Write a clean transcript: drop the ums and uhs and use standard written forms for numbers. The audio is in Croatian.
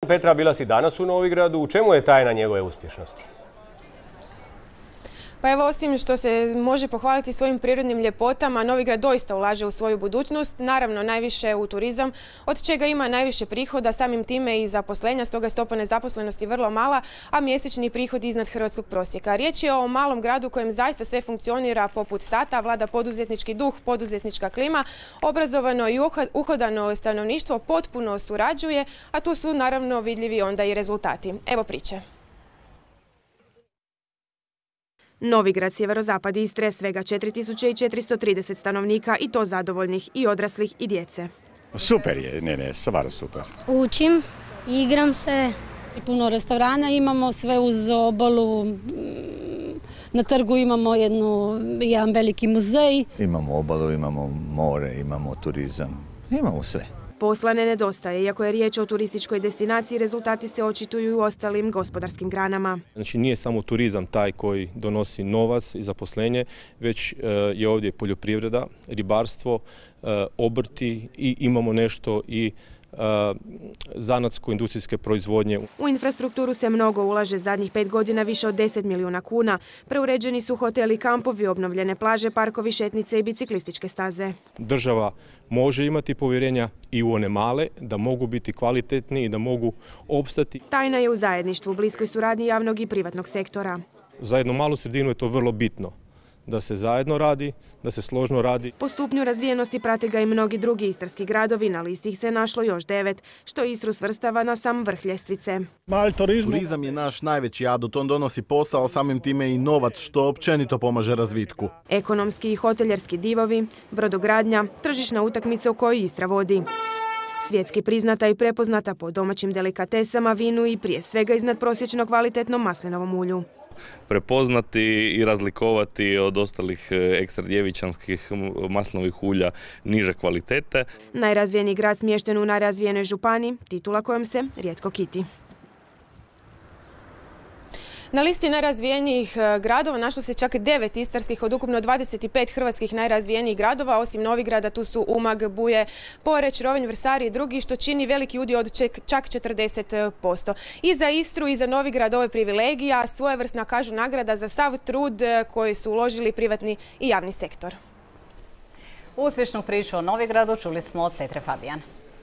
Petra, bila si danas u Novigradu. U čemu je tajna njegove uspješnosti? Pa evo, osim što se može pohvaliti svojim prirodnim ljepotama, Novigrad doista ulaže u svoju budućnost, naravno najviše u turizam, od čega ima najviše prihoda, samim time i zaposlenja, stoga je stopa nezaposlenosti vrlo mala, a mjesečni prihod iznad hrvatskog prosjeka. Riječ je o malom gradu u kojem zaista sve funkcionira poput sata, vlada poduzetnički duh, poduzetnička klima, obrazovano i uhodano stanovništvo potpuno surađuje, a tu su naravno vidljivi onda i rezultati. Evo priče. Novigrad, sjeverozapad Istre, svega 4430 stanovnika i to zadovoljnih i odraslih i djece. Super je, stvarno super. Učim, igram se. Puno restorana imamo, sve uz obalu. Na trgu imamo jedan veliki muzej. Imamo obalu, imamo more, imamo turizam, imamo sve. Posla ne nedostaje, iako je riječ o turističkoj destinaciji, rezultati se očituju i u ostalim gospodarskim granama. Znači nije samo turizam taj koji donosi novac i zaposlenje, već je ovdje poljoprivreda, ribarstvo, obrti i imamo nešto i zanatsko-industrijske proizvodnje. U infrastrukturu se mnogo ulaže zadnjih 5 godina, više od 10 milijuna kuna. Preuređeni su hoteli, kampovi, obnovljene plaže, parkovi, šetnice i biciklističke staze. Država može imati povjerenja i u one male, da mogu biti kvalitetni i da mogu opstati. Tajna je u zajedništvu, bliskoj suradnji javnog i privatnog sektora. Za jednu malu sredinu je to vrlo bitno. Da se zajedno radi, da se složno radi. Po stupnju razvijenosti prate ga i mnogi drugi istarski gradovi, na listi ih se našlo još 9, što Istru svrstava na sam vrh ljestvice. Turizam je naš najveći adut, on donosi posao, samim time i novac, što općenito pomaže razvitku. Ekonomski i hoteljerski divovi, brodogradnja, tržišna utakmica u kojoj Istra vodi. Svjetski priznata i prepoznata po domaćim delikatesama, vinu i prije svega iznadprosječno kvalitetnom maslinovom ulju. Prepoznati i razlikovati od ostalih ekstra djevičanskih maslinovih ulja niže kvalitete. Najrazvijeniji grad smješten u najrazvijenoj županiji, titula kojom se rijetko kiti. Na listi najrazvijenijih gradova našlo se čak 9 istarskih od ukupno 25 hrvatskih najrazvijenijih gradova. Osim Novigrada tu su Umag, Buje, Poreč, Rovinj, Vrsar i drugi, što čini veliki udio od čak 40%. I za Istru i za Novigrad ovo je privilegija, svojevrsna, kažu, nagrada za sav trud koji su uložili privatni i javni sektor. Uspješnu priču o Novigradu čuli smo od Petre Fabijan.